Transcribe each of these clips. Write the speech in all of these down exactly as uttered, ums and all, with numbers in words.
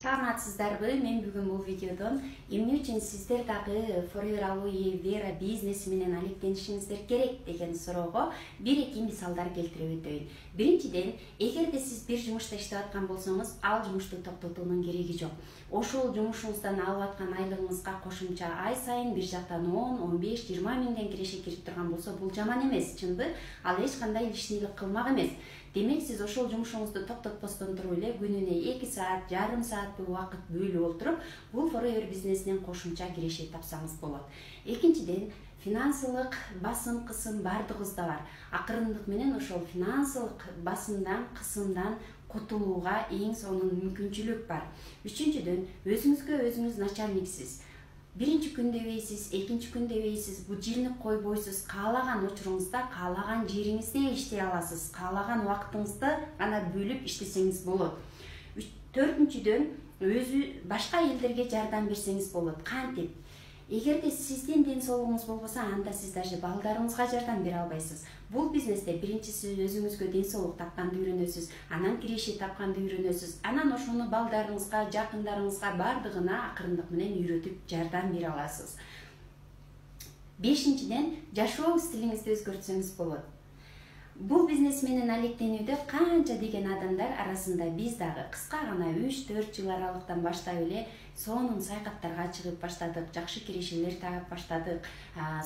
Саламатсыздарбы? Мен бүгүн бул видеодон эмне үчүн сиздер дагы Forever Aloe Vera бизнеси менен алектенишиңиздер керек деген суроого бир-эки мисалдар келтирип өтөйүн. Биринчиден, эгерде сиз бир жумушта иштеп аткан болсоңуз, ал жумушту токтотуунун кереги жок. Ошол жумушуңуздан алып аткан айлыгыңызга кошумча ай сайын бир жактан он, он беш, жыйырма миңден киреше кирип турган болсо, бул жаман эмес, чынбы? Ал эч кандай лишнийлик кылмак эмес. Демек, сиз ошол жумушуңузду токтотпостон туруп эле күнүнө эки саат, жарым саат убакыт бөлүп отуруп, бул Forever бизнесинен кошумча киреше тапсаңыз болот. Экинчиден, финансылык басым, кысым бардыгыбызда бар. Акырындык менен ошол финансылык басымдан, кысымдан кутулууга эң сонун мүмкүнчүлүк бар. Үчүнчүдөн, өзүңүзгө өзүңүз начальниксиз. Биринчи күн дебейсиз, экинчи күн дебейсиз, будильник койбойсуз, каалаган учуруңузда, каалаган жериңизде иштей аласыз, каалаган убактыңызды гана бөлүп иштесеңиз болот. Төртүнчүдөн, өзү башка элдерге жардам берсеңиз болот. Кантип? Эгерде сиздин ден соолугуңуз болбосо, анда сиз даже балдарыңызга жардам бере албайсыз. Бул бизнесте биринчиси өзүңүзгө ден соолук тапканды үйрөнөсүз, анан киреше тапканды үйрөнөсүз, анан ошону балдарыңызга, жакындарыңызга бардыгына акырындык менен үйрөтүп жардам бере аласыз. Бешинчиден, жашоо стилиңизди өзгөртсөңүз болот. Бул бизнес менен алектенүүдө канча деген адамдар арасында биз дагы кыска гана үч төрт жыл аралыктан баштап эле сонун саякаттарга чыгып баштадык, жакшы кирешелер таап баштадык,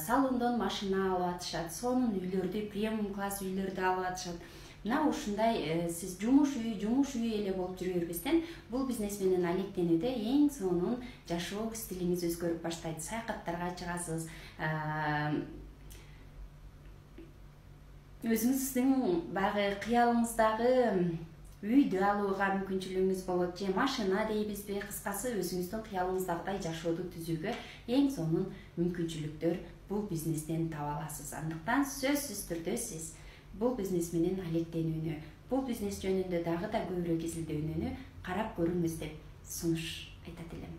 салондон машина алып атышат, сонун үйлөрдү, премиум класс үйлөрдү алып атышат. Мына ушундай сиз жумуш үй, жумуш үй эле болуп жүрө бербестен, бул бизнес менен алектенүүдө эң сонун жашоо стилиңиз өзгөрүп баштайт. Саякаттарга чыгасыз, өзүңүздүн багы кыялыңыздагы үйдү алууга мүмкүнчүлүгүңүз болот, же машина дейбизби, кыскасы өзүңүздүн кыялыңыздагыдай жашооду түзүүгө эң сонун мүмкүнчүлүктөр бул бизнестен таба аласыз. Андыктан сөзсүз түрдө сиз бул бизнес менен алектенүүнү, бул бизнес жөнүндө дагы да көбүрөөк изилдөөнү карап көрүңүз деп сунуш айтат элем.